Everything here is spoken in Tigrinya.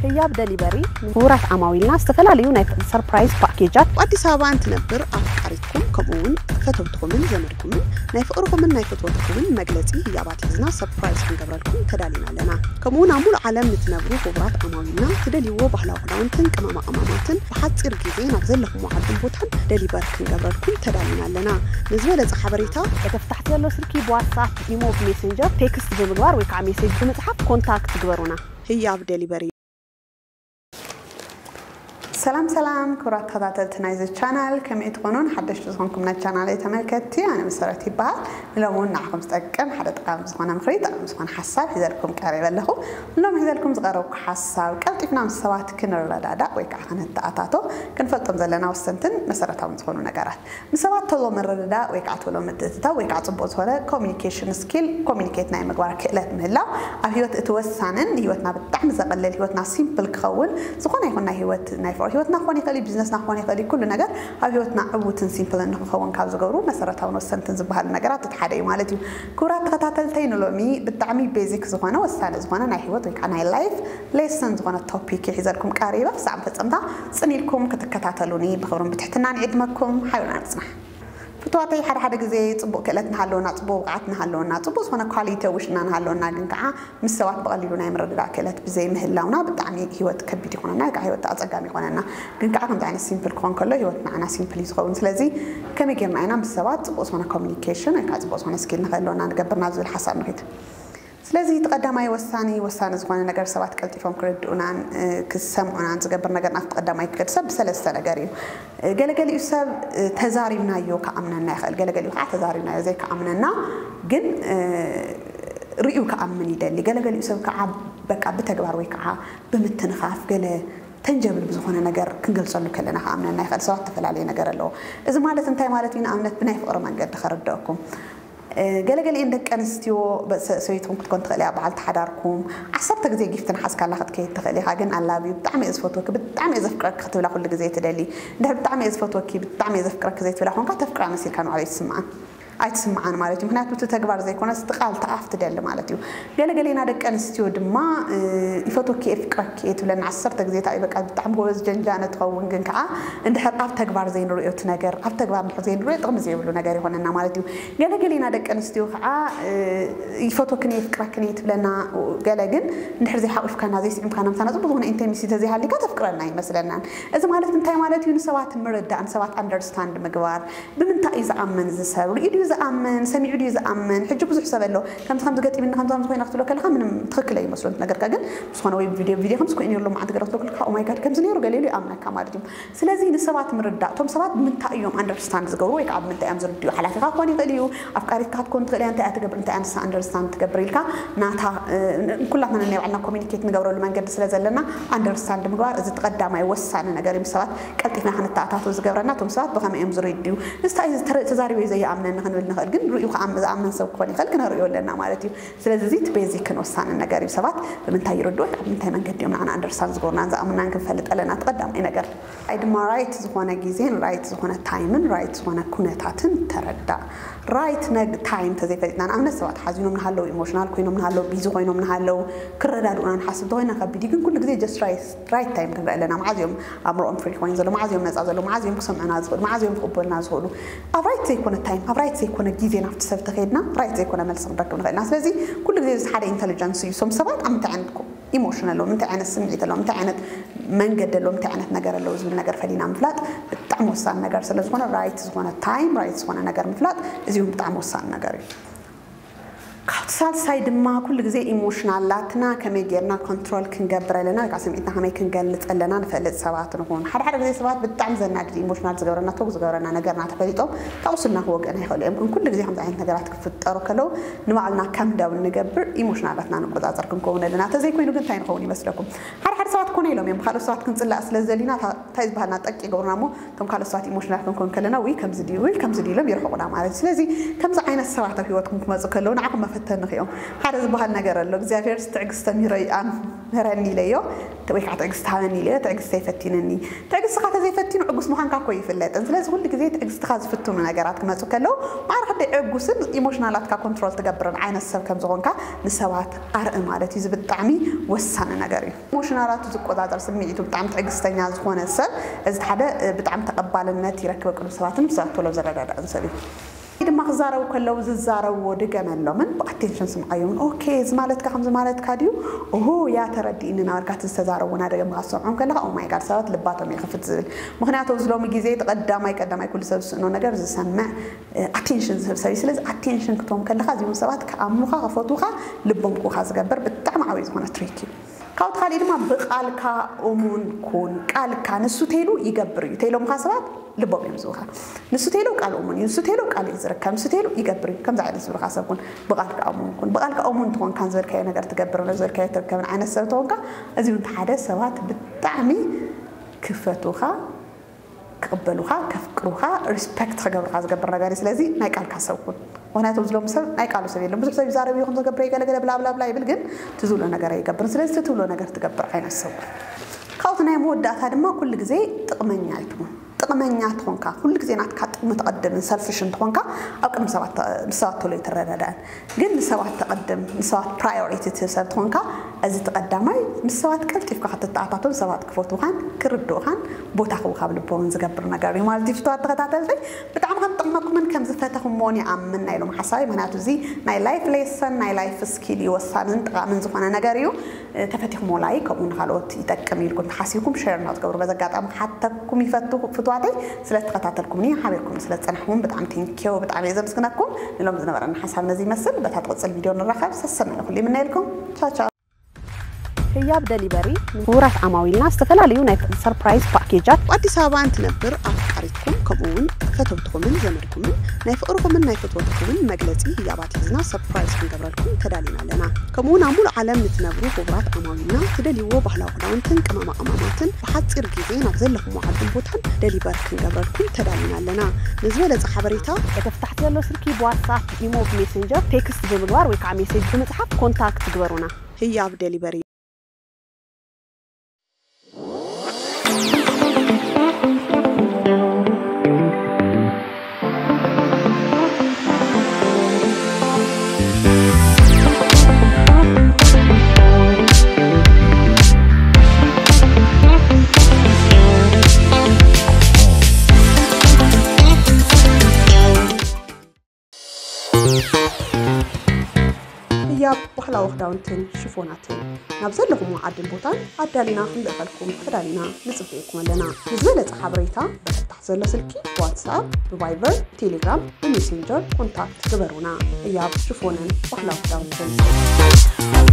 ህያብ ደሊቨሪ ንክቡራት ዓማዊልና ዝተፈላለዩ ናይ ሰርፕራይዝ ፓኬጃት። ኣብ ኣዲስ ኣበባ እንትነብር ኣፍቃሪትኩም ከምኡ እውን ፈተውትኹምን ዘመድኩምን ናይ ፍቕርኹምን ናይ ፍትወትኩምን መግለፂ ህያባት ሒዝና ሰርፕራይዝ ክንገብረልኩም ተዳሊና ኣለና። ከምኡ እውን ኣብ ሙሉእ ዓለም ንትነብሩ ክቡራት ዓማዊልና ትደልይዎ ባህላዊ ክዳውንትን ቅመማ ቅመማትን ብሓፂር ግዜ ናብ ዘለኹምዎ ዓድን ቦታን ደሊቨር ክንገብረልኩም ተዳሊና ኣለና። ንዝበለፀ ሓበሬታ እቲ ታሕቲ ዘሎ ስልኪ ብዋትሳፕ፣ ኢሞ፣ ብሜሴንጀር ቴክስት ብምግባር ወይ ከዓ ሜሴጅ ብምፅሓፍ ኮንታክት ግበሩና። ህያብ ደሊቨሪ። ሰላም ሰላም ክቡራት ተኸታተልቲ ናይዚ ቻናል፣ ከመይ ትኾኑ? ሓደሽቲ ዝኾንኩም ናይ ቻናለይ ተመልከትቲ፣ ኣነ መሰረት ይበሃል። ንሎሚ እውን ንዓኹም ዝጠቅም ሓደ ጠቃሚ ዝኾነ ምኽሪ፣ ጠቃሚ ዝኾነ ሓሳብ ሒዘልኩም ቀሪበ ኣለኹ። ሎም ሒዘልኩም ዝቐረብኩ ሓሳብ፣ ቀልጢፍና ምስ ሰባት ክንረዳዳእ ወይ ከዓ ክንተኣታቶ ክንፈልጦም ዘለና ወሰንትን መሰረታውን ዝኾኑ ነገራት። ምስ ሰባት ቶሎ ምርድዳእ ወይ ከዓ ቶሎ ምትእትታው ወይ ከዓ ፅቡቅ ዝኾነ ኮሚኒኬሽን ስኪል፣ ኮሚኒኬት ናይ ምግባር ክእለት ምህላው ኣብ ህይወት እቲ ወሳንን ንህይወትና ብጣዕሚ ዘቐልል፣ ህይወትና ሲምፕል ክኸውን፣ ዝኾነ ይኹን ናይ ህይወት ናይ ፍቅሪ ህይወትና ክኾን ይኽእል እዩ፣ ቢዝነስና ክኾን ይኽእል እዩ፣ ኩሉ ነገር ኣብ ህይወትና ዕዉትን ሲምፕልን ንክኸውን ካብ ዝገብሩ መሰረታውን ወሰንትን ዝበሃሉ ነገራት እቲ ሓደ እዩ ማለት እዩ። ክቡራት ተኸታተልተይ፣ ንሎሚ ብጣዕሚ ቤዚክ ዝኾነ ወሳኒ ዝኾነ ናይ ህይወት ወይ ከዓ ናይ ላይፍ ሌሰን ዝኾነ ቶፒክ ሒዘልኩም ቀሪበ። ክሳዕ መፈፀምታ ፅን ኢልኩም ክትከታተሉኒ ብኽብርን ብትሕትናን ይዕድመኩም። ሓቢርና ንፅናሕ። ፍትዋተይ፣ ሓደ ሓደ ግዜ ፅቡቅ ክእለት እናሃለወና፣ ፅቡቅ ብቕዓት እናሃለወና፣ ፅቡቅ ዝኾነ ኳሊቲ ውሽና እናሃለወና፣ ግን ከዓ ምስ ሰባት ብቐሊሉ ናይ ምርድዳእ ክእለት ብዘይ ምህላውና ብጣዕሚ ህይወት ከቢድ ይኾነና፣ ወይ ከዓ ህይወት ኣፀጋሚ ይኾነና። ግን ከዓ ከምዚ ዓይነት ሲምፕል ክኾን ከሎ ህይወት ንዓና ሲምፕል እዩ ዝኸውን። ስለዚ ከመይ ጌርና ኢና ምስ ሰባት ፅቡቅ ዝኾነ ኮሚኒኬሽን ወይ ከዓ ፅቡቅ ዝኾነ ስኪል ንኽህልወና ንገብር ናብ ዝብል ሓሳብ ንኺድ። ስለዚ እቲ ቀዳማይ ወሳኒ ወሳኒ ዝኾነ ነገር ሰባት ቀልጢፎም ክርድኡናን እ፣ ክሰምዑናን ዝገብር ነገር ናብቲ ቀዳማይ ክገድ ሰብ ብሰለስተ ነገር እዩ። እ፣ ገለገሊኡ ሰብ እ፣ ተዛሪብናዮ ክኣምነና ይኽእል፣ ገለገሊኡ ከዓ ተዛሪብናዮ ዘይክኣምነና ግን እ፣ ርእዩ ክኣምን ይደሊ። ገለገሊኡ ሰብ ከዓ በቃ ብተግባር ወይ ከዓ ብምትንኻፍ ገለ ተንጀብል ብዝኾነ ነገር ክንገልፀሉ ከለና ክኣምነና ይኽእል። ሰባት ዝተፈላለየ ነገር ኣለዎ። እዚ ማለት እንታይ ማለት እዩ? ንኣብነት ብናይ ፍቅሪ መንገዲ ከረድአኩም። ገለገሊኤን ደቂ ኣንስትዮ ሰበይትኹም ክትኮን ትኽእል እያ፣ በዓልቲ ሓዳርኩም ዓሰርተ ግዜ ጊፍቲ ንሓዝካላ ክትከይድ ትኽእል ኢኻ። ግን ኣላብዩ ብጣዕሚ እየ ዝፈትወኪ፣ ብጣዕሚ እየ ዘፍቅረኪ ክትብላ ኩሉ ግዜ ትደሊ። እንድሕር ብጣዕሚ እየ ዝፈትወኪ፣ ብጣዕሚ እየ ዘፍቅረኪ ዘይትብላ ኮንካ ተፍቅራ መሲልካ ንባዕሉ ኣይትስምዓን ኣይትስምዓን ማለት እዩ። ምክንያቱ እቲ ተግባር ዘይኮነስ እቲ ቃል እቲ ኣፍ ትደሊ ማለት እዩ። ገለገሌና ደቂ ኣንስትዮ ድማ ይፈትወኪ እየ ፍቅረኪ እየ ትብለና ዓሰርተ ግዜ። እንታይ በቃ ብጣዕሚ ጎበዝ ጀንጃነ ትኸውን፣ ግን ከዓ እንድሕር ኣብ ተግባር ዘይንርእዮ እቲ ነገር፣ ኣብ ተግባር እንድሕር ዘይንርእዮ ጥቕሚ ዘይብሉ ነገር ይኾነና ማለት እዩ። ገለገሌና ደቂ ኣንስትዮ ከዓ ይፈትወክን እየ ፍቅረክን እየ ትብለና፣ ገለ ግን እንድሕር ዘይሓቂፍካና ዘይስዒምካና ምሳና ፅቡቅ ዝኾነ ኢንቲመሲ ተዘይሃሊካ ተፍቅረና ይመስለናን። እዚ ማለት እንታይ ማለት እዩ? ንሰባት ምርዳእ፣ ንሰባት ኣንደርስታንድ ምግባር። ብምንታይ እዩ ዝኣምን እዚ ሰብ? ርእዩ ድዩ ዝኣምን? ሰሚዑ ድዩ ዝኣምን? ሕጂ ብዙሕ ሰብ ኣሎ፣ ከምዚ ከምዚ ገጢምኒ፣ ከምዚ ከምዚ ኮይነ ክትብሎ ከለካ ምንም ትኽክል ኣይመስሎን። ነገርካ ግን ዝኾነ ወይ ቪድዮ ቪድዮ ከምዚ ኮይኑ ኣሎ መዓልቲ ገለ ክትብሎ ከለካ ኦ ማይ ጋድ ከምዚ ነይሩ ገለ ኢሉ ይኣምነካ ማለት እዩ። ስለዚ ንሰባት ምርዳእ፣ እቶም ሰባት ብምንታይ እዮም ኣንደርስታንድ ዝገብሩ ወይ ከዓ ብምንታይ እዮም ዝርድኡ? ሓላፊኻ ክኾን ይኽእል እዩ፣ ኣፍቃሪትካ ክትኮን ትኽእል እያ፣ እንታይ እያ ትገብር፣ እንታይ እያ ንሳ ኣንደርስታንድ ትገብር ኢልካ ናታ ኩላትና ነናይ ባዕልና ኮሚኒኬት ንገብረሉ መንገዲ ስለ ዘለና ኣንደርስታንድ ምግባር እዚ ቀዳማይ ወሳኒ ነገር እዩ። ሰባት ቀልጢፍና ክንተኣታቶ ዝገብረና እቶም ሰባት ብኸመይ እዮም ዝርድኡ። ንስታይ ተዛሪበ ዘይኣምነኒ ክንብል ንኽእል፣ ግን ርእዩ ዝኣምን ሰብ ክኾን ይኽእል፣ ክነርእዮ ኣለና ማለት እዩ። ስለዚ እዚ እቲ ቤዚክን ወሳንን ነገር እዩ። ሰባት ብምንታይ ይርድኡ፣ ኣብ ምንታይ መንገዲ እዮም ንዓና ኣንደርስታንድ ዝገብሩናን ዝኣምኑናን ክንፈልጥ ኣለና። እቲ ቀዳማይ ነገር ኣይ ድማ ራይት ዝኾነ ግዜን ራይት ዝኾነ ታይምን ራይት ዝኾነ ኩነታትን ተረዳእ። ራይት ታይም ተዘይፈሊጥና፣ ንኣብነት ሰባት ሓዚኖም ንሃለዉ፣ ኢሞሽናል ኮይኖም ንሃለዉ፣ ቢዚ ኮይኖም ንሃለዉ፣ ክረዳድኡና ንሓስብ እንተኮይና ከቢድ እዩ። ግን ኩሉ ግዜ ጀስት ራይት ራይት ታይም ክንርኢ ኣለና። መዓዝ እዮም ኣእምሮኦም ፍሪ ኮይኑ ዘሎ፣ መዓዝ እዮም ነፃ ዘሎ፣ መዓዝ እዮም ክሰምዑና ዝኽእሉ፣ መዓዝ እዮም ክቕበሉና ዝኽእሉ። ኣብ ራይት ዘይኮነ ታይም፣ ኣብ ራይት ዘይኮነ ግዜ ናብቲ ሰብ ተኸይድና ራይት ዘይኮነ መልሲ ክንረክብ ንኽእልና። ስለዚ ኩሉ ግዜ እዚ ሓደ ኢንተሊጀንስ እዩ። ሶም ሰባት ኣብ ምንታይ ዓይነት ኢሞሽን ኣለዎም፣ እንታይ ዓይነት ስምዒት ኣለዎም፣ እንታይ ዓይነት መንገዲ ኣለዎም፣ እንታይ ዓይነት ነገር ኣለዎ ዝብል ነገር ፈሊና ምፍላጥ ብጣዕሚ ወሳኒ ነገር ስለ ዝኾነ ራይት ዝኾነ ታይም፣ ራይት ዝኾነ ነገር ምፍላጥ እዚ እውን ብጣዕሚ ወሳኒ ነገር እዩ። ካብቲ ሳልሳይ ድማ ኩሉ ግዜ ኢሞሽናላትና ከመይ ጌርና ኮንትሮል ክንገብር ኣለና ወይ ከዓ ስምዒትና ከመይ ክንገልፅ ኣለና ንፈልጥ ሰባት ንኹን። ሓደ ሓደ ግዜ ሰባት ብጣዕሚ ዘናድድ ኢሞሽናል ዝገብረና ቶግ ዝገብረና ነገርና ተፈሊጦም ካብ ቁስልና ክወግእና ይኽእሉ እዮም። ግን ኩሉ ግዜ ከምዚ ዓይነት ነገራት ክፍጠሩ ከለዉ ንባዕልና ካም ዳውን ንገብር ኢሞሽናላትና ንቆፃፀር ክንከውን ኣለና። ተዘይኮይኑ ግን እንታይ ንኸውን ይመስለኩም? ሓደ ሓደ ሰባት ኮነ ኢሎም እዮም ብካልኦት ሰባት ክንፅላእ ስለ ዝደሊና እንታይ ዝበሃልና ጠቂ ይገብሩና እሞ እቶም ካልኦት ሰባት ኢሞሽናል ክንኮን ከለና ወይ ከምዚ ድዩ ወይ ከምዚ ድዩ ኢሎም ይርሕቁና ማለት እዩ። ስለዚ ከምዚ ዓይነት ሰባት ኣብ ህይወትኩም ክመፁ ከለዉ ንዓኹም መፈተኒ እዮም። ሓደ ዝበሃል ነገር ኣሎ፣ እግዚኣብሔር ትዕግስቲ ተምሂሮ ይኣም ምህረኒ ኢለዮ፣ ወይ ከዓ ትዕግስቲ ሃበኒ ኢለዮ፣ ትዕግስቲ ኣይፈቲንኒ። ትዕግስትኻ ተዘይፈቲኑ ዕጉስ ምዃንካ እኮ ይፍለጥን። ስለዚ ኩሉ ግዜ ትዕግስትኻ ዝፍትኑ ነገራት ክመፁ ከለዉ፣ ማዕረ ክንደይ ዕጉስን ኢሞሽናላትካ ኮንትሮል ትገብርን ዓይነት ሰብ ከም ዝኾንካ ንሰባት ኣርኢ ማለት እዩ። እዚ ብጣዕሚ ወሳኒ ነገር እዩ። ኢሞሽናላቱ ዝቆፃፀር፣ ስምዒቱ ብጣዕሚ ትዕግስተኛ ዝኾነ ሰብ፣ እዚ ሓደ ብጣዕሚ ተቐባልነት ይረክብ፣ ቅዱስ ሰባትን ብሰባት ቶሎ ዝረዳዳእን ሰብ እዩ። ድማ ክዛረቡ ከለዉ ዝዛረብዎ ድገመሎምን ብኣቴንሽን ስምዓዮም። ኦኬ፣ እዚ ማለትካ ከምዚ ማለትካ ድዩ? ኦሆ፣ ያ ተረዲእኒ እናበልካ እቲ ዝተዛረብዎ እናደገምካ ዝሰምዖም ከለኻ፣ ኦ ማይ ጋድ፣ ሰባት ልባቶም ይኸፍት ዝብል። ምኽንያቱ ኣብዚ ሎሚ ግዜ እቲ ቀዳማይ ቀዳማይ ኩሉ ሰብ ዝስእኖ ነገር ዝሰምዕ ኣቴንሽን ዝህብ ሰብ እዩ። ስለዚ ኣቴንሽን ክትቦም ከለኻ እዚኦም ሰባት ክኣምኑኻ፣ ክፈትዉኻ፣ ልቦም ክህቡኻ ዝገብር ብጣዕሚ ዓብዪ ዝኾነ ትሪክ እዩ። ካብኡ ካሊእ ድማ ብቃልካ እሙን ኩን። ቃልካ ንሱ ተይሉ ይገብር እዩ። ተይሎምካ ሰባት ልቦም እዮም ዝህቡኻ። ንሱ ተይሉ ቃል እሙን እዩ። ንሱ ተይሉ ቃል እዩ ዝርከብ። ንሱ ተይሉ ይገብር እዩ። ከምዚ ዓይነት ዝብልካ ሰብ ኩን። ብቃልካ እሙን ኩን። ብቃልካ እሙን ትኾንካን ዝበልካዮ ነገር ትገብር፣ ዝበልካዮ ትርከብን ዓይነት ሰብ ተኾንካ፣ እዚ እውን ሓደ ሰባት ብጣዕሚ ክፈትዉኻ፣ ክቕበሉኻ፣ ከፍቅሩኻ፣ ሪስፔክት ክገብሩኻ ዝገብር ነገር እዩ። ስለዚ ናይ ቃልካ ሰብ ኩን። ምኽንያቱ ኣብዚ ሎሚ ሰብ ናይ ቃሉ ሰብ የለን። ብዙሕ ሰብ ይዛረብ እዩ፣ ከም ዘገብረ ይገለገለ ብላ ብላ ብላ ይብል፣ ግን እቲ ዝብሎ ነገር ኣይገብርን። ስለዚ እቲ ትብሎ ነገር ትገብር ዓይነት ሰብ ኩን። ካብኡ ናይ መወዳእታ ድማ ኩሉ ግዜ ጥቕመኛ ኣይትኹን። ጥቕመኛ ትኾንካ፣ ኩሉ ግዜ ናትካ ጥቕሚ ትቐድምን ሰልፊሽ እንትኾንካ ኣብ ቅድሚ ሰባት ተ-፣ ምስ ሰባት ቶሎ ኣይትረዳዳእን። ግን ንሰባት ተቐድም፣ ንሰባት ፕራዮሪቲ ትህብ ሰብ ትኾንካ፣ እዚ እቲ ቀዳማይ ምስ ሰባት ቀልጢፍካ ክትተኣታቶን ሰባት ክፈትዉኻን ክርድኡኻን ቦታ ክህቡኻ ኣብ ልቦምን ዝገብር ነገር እዩ ማለት እዩ። ፍትዋት ተኸታተልቲ፣ ብጣዕሚ ከም ዝጠቕመኩምን ከም ዝፈተኹምዎን ይኣምን ናይ ሎም ሓሳብ። ምኽንያቱ እዚ ናይ ላይፍ ሌሰን፣ ናይ ላይፍ ስኪል እዩ፣ ወሳንን ጠቓምን ዝኾነ ነገር እዩ። እ፣ ተፈቲኹሞ ላይክ፣ ከምኡ ንኻልኦት ይጠቅም ኢልኩም ተሓሲብኩም ሼር እናትገብሩ በዚ ኣጋጣሚ ክሓተኩም ይፈቱ ፍትዋተይ። ስለ ተኸታተልኩምኒ፣ ሓቢርኩም ስለ ዝጸናሕኩም ብጣዕሚ ቴንኪዩ፣ ብጣዕሚ እየ ዘመስግነኩም። ንሎም ዝነበረና ሓሳብ ነዚ ይመስል። በታ ትቕጽል ቪድዮ ንራኸብ። ሰሰናይ ንኹሉ ይምነየልኩም። ቻው ቻው። ህያብ ደሊቨሪ ንክቡራት ዓማዊልና ዝተፈላለዩ ናይ ሰርፕራይዝ ፓኬጃት። ኣብ ኣዲስ ኣበባ እንትነብር ኣፍቃሪትኩም ከምኡ እውን ፈተውትኹምን ዘመድኩምን ናይ ፍቕርኹምን ናይ ፍትወትኩምን መግለጺ ህያባት ሒዝና ሰርፕራይዝ ክንገብረልኩም ተዳሊና ኣለና። ከምኡ እውን ኣብ ሙሉእ ዓለም ንትነብሩ ክቡራት ዓማዊልና ትደልይዎ ባህላዊ ክዳውንትን ቅመማ ቅመማትን ብሓጺር ግዜ ናብ ዘለኹሞ ዓድን ቦታን ደሊቨር ክንገብረልኩም ተዳሊና ኣለና። ንዝበለጸ ሓበሬታ በተፍታሕቲ ዘሎ ስልኪ ብዋትሳፕ፣ ኢሞ፣ ብሜሴንጀር ቴክስት ብምግባር ወይ ከዓ ሜሴጅ ብምጽሓፍ ኮንታክት ግበሩና። ህያብ ደሊቨሪ። ህያብ ባህላዊ ክዳውንትን ሽፎናትን ናብ ዘለኹሞ ዓድን ቦታን ኣዳሊና ክንልእኸልኩም ተዳሊና ንጽበየኩም ኣለና። ንዝበለጸ ሓበሬታ በተፍታሕ ዘሎ ስልኪ ብዋትስኣፕ፣ ብቫይበር፣ ቴሌግራም፣ ብሜሴንጀር ኮንታክት ግበሩና። ህያብ ሽፎንን ባህላዊ ክዳውንትን።